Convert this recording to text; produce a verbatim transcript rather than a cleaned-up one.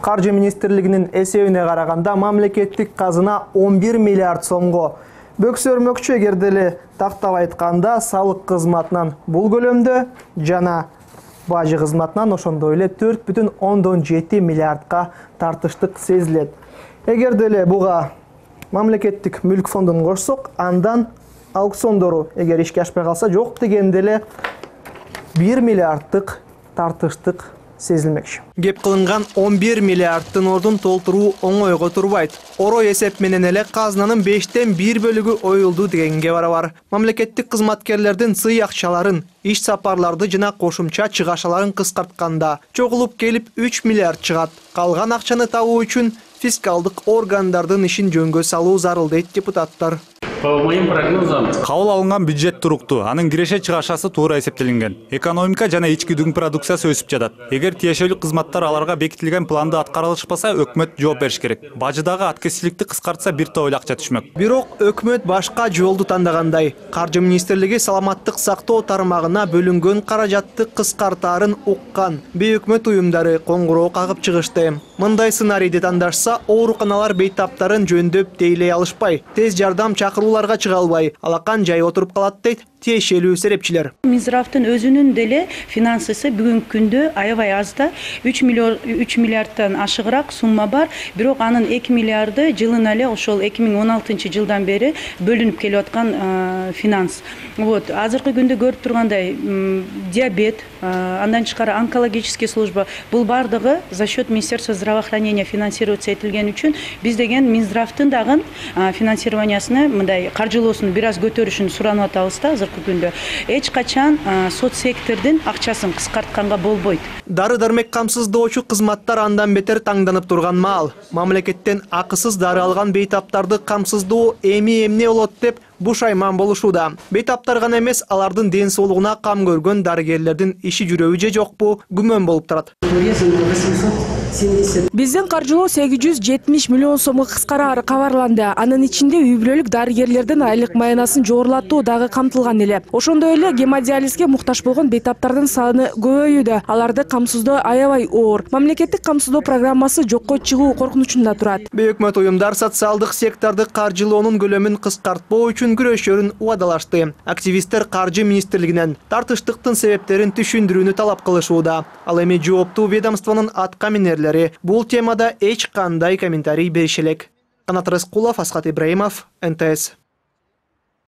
Каржы министрлигинин эсебине караганда мамлекеттик казына он бир миллиард сомго бөксөрмөкчү. Эгер деле тактап айтканда салык кызматынан бул көлөмдө жана бажы кызматынан ошондой эле төрт бүтүн ондон жети миллиардка тартыштык сезилет. Эгер деле буга мамлекеттик мүлк фондун кошсок, андан аукциондору эгер ишке ашпай калса, жок дегенде эле бир миллиардтык тартыштык сезилмекчи. Кеп кылынган он бир миллиардтын ордун толтуруу оңойго турбайт. Орой эсеп менен эле казынанын бештен бир бөлүгү оюлду дегенге барабар. Мамлекеттик кызматкерлердин сый акчаларын, иш сапарларды жана кошумча чыгашаларын кыскартканда чогулуп келип үч миллиард чыгат. Калган акчаны табуу үчүн фискалдык органдардын ишин жөнгө салуу зарыл дейт депутаттар. По моим прогнозам, кабыл алынган бюджет туруктуу, анын киреше чыгашасы туура эсептелинген. Экономика жана ички дүң продукциясы өсүп жатат. Эгер тиешелүү кызматтар аларга бекитилген планда аткарылышпаса, өкмөт жооп бериш керек. Бажыдагы аткезчиликти кыскартса, бир топ эле акча түшмөк. Бирок өкмөт башка жолду тандагандай. Каржы министрлиги саламаттык сактоо тармагына бөлүнгөн каражатты кыскартаарын уккан. Бейөкмөт уюмдары коңгуроо кагып чыгышты. Мындай сценарийди тандашса, ооруканалар бейтаптарын жөндөп тейлей алышпай, тез жардам чакырууларга чыга албай, алакан жай отуруп калат дейт тиешелүү серепчилер. Минздравдын өзүнүн деле финансысы бүгүнкү күндө аябай аз да, үч миллиардтан ашыгыраак сумма бар, бирок анын эки миллиарды жылына эле ошол эки миң он алтынчы жылдан бери бөлүнүп келип аткан финанс. Вот, азыркы күндө көрүп тургандай диабет, андан тышкары онкологический служба, бул бардыгы за счет Министерства здравоохранения финансироваться этилген үчүн биз деген Минздравдын дагы финансированиясыны мындай каржылоосун бир аз көтөрүшүн суранып атабыз да. Азыркы күндө эч качан соцсектордун акчасын кыскартканга болбойт. Дары-дармек камсыздоочу кызматтар андан бетер таңданып турган маал. Мамлекеттен акысыз дары алган бейтаптарды камсыздоо эми эмне болот деп бушайман болушууда. Бейтаптар гана эмес, алардын ден соолугуна кам көргөн дарыгерлердин иши жүрөбү же жокпу күмөн болуп турат. Биздин каржылоо сегиз жүз жетимиш миллион сомго кыскарары кабарланды. Анын ичинде үй бүлөлүк дарыгерлердин айлык маянасын жогорулатуу дагы камтылган эле. Ошондой эле гемодиализге муктаж болгон бейтаптардын саны көбөйүүдө. Аларды камсыздоо аябай оор. Мамлекеттик камсыздоо программасы жокко чыгуу коркунучунда турат. Бейөкмөт уюмдар социалдык секторду каржылоонун көлөмүн кыскартпоо үчүн күрөшөрүн убадалашты. Активисттер каржы министрлигинен тартыштыктын себептерин түшүндүрүүнү талап кылышууда. Ал эми жооптуу ведомствонун атка минерлери бул темада эч кандай комментарий бериши элек. Канат Рыскулов, Асхат Ибраимов, эн тэ эс.